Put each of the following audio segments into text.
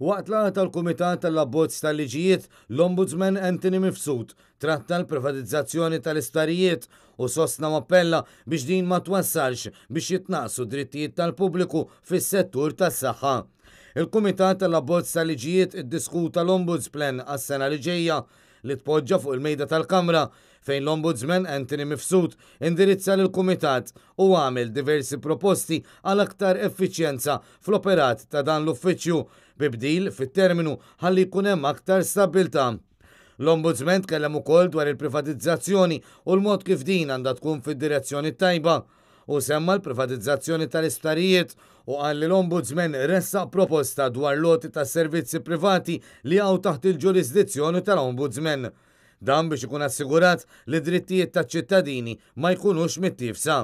Waqt laqgħa tal-Kumitat tal-Abbozz tal-Liġijiet, l-Ombudsman Anthony Mifsud tratta l-privatizzazzjoni tal-isptarijiet u sostna u appella biex din ma twassalx biex jitnaqqsu d-drittijiet tal-pubbliku fis-settur tas-saħħa. Il-Kumitat tal-Abbozz tal-Liġijiet iddiskuta l-Ombudsplan għas-sena li ġejja li tpoġġa fuq il-mejda tal-Kamra fejn l-Ombudsman Anthony Mifsud indirizza lill-Kumitat u għamel diversi proposti għal aktar effiċjenza fl-operat ta' dan l-uffiċċju bi bdil fit-terminu ħalli jkun hemm aktar stabbiltà. L-Ombudsman tkellem ukoll dwar il-privatizzazzjoni u l-mod kif din għandha tkun fid-direzzjoni t-tajba. Hu semma l-privatizzazzjoni tal-isptarijiet u qal li l-Ombudsman ressaq proposta dwar l-għoti ta' servizzi privati li jaqgħu taħt il-ġurisdizzjoni tal-Ombudsman. Dan biex ikun assigurat li d-drittijiet taċ-ċittadini ma jkunux mittiefsa.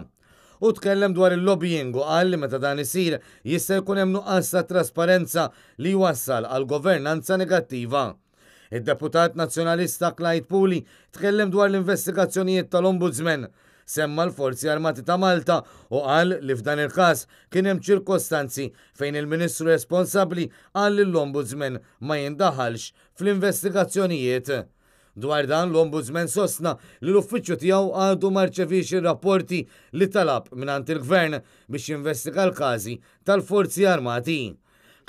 Hu tkellem dwar il-lobbying u qal li meta dan isir jista' jkun hemm nuqqas ta' trasparenza li jwassal għal governanza negattiva. Id-deputat Nazzjonalista Clyde Puli tkellem dwar l-investigazzjonijiet tal-Ombudsman. Semma l-Forzi Armati ta' Malta u qal li f'dan il-każ kien hemm ċirkostanzi fejn il-Ministru responsabbli qal lill-Ombudsman ma jindaħalx fl-investigazzjonijiet. Dwar dan l-Ombudsman sostna li l-uffiċċju tiegħu għadu ma rċeviex ir-rapporti li talab mingħand il-Gvern biex jinvestiga l-każi tal-Forzi Armati.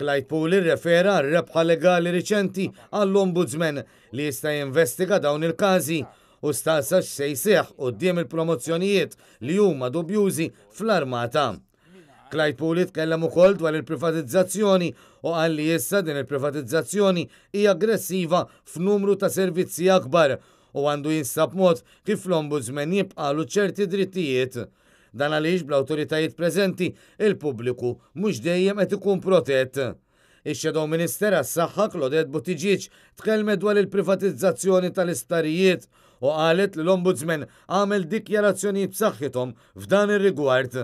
Clyde Puli rrefera għal rebħa legali riċenti għall-Ombudsman li jista' jinvestiga dawn il-każi u staqsa x'se jseħħ quddiem il-promozzjonijiet li huma dubjużi fl-Armata. Clyde Puli tkellem ukoll dwar il-privatizzazzjoni u qal li issa din il-privatizzazzjoni hi aggressiva f'numru ta' servizzi akbar u għandu jinstab mod kif l-Ombudsman jibqagħlu ċerti drittijiet. Dan għaliex bl-awtoritajiet preżenti, il-pubbliku mhux dejjem qed ikun protett. Ix-Shadow Minister għas-Saħħa Claudette Buttigieg tkellmet dwar il-privatizzazzjoni tal-isptarijiet u qalet li l-Ombudsman għamel dikjarazzjonijiet b'saħħithom f'dan ir-rigward.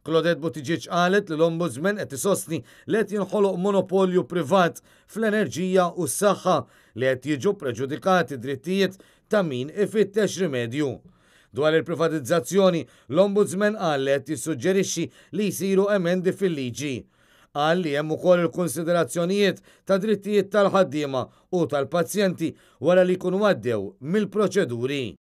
Claudette Buttigieg qalet li l-Ombudsman qed isostni li qed jinħoloq monopolju privat fl-enerġija u s-saħħa li qed jiġu preġudikati drittijiet ta' min ifittex rimedju. Dwar il-privatizzazzjoni, l-Ombudsman qal li qed jissuġġerixxi li jsiru emendi fil-liġi. Qal li hemm ukoll il-kunsiderazzjonijiet ta' drittijiet tal-ħaddiema u tal-pazjenti wara li jkunu għaddew mill-proċeduri.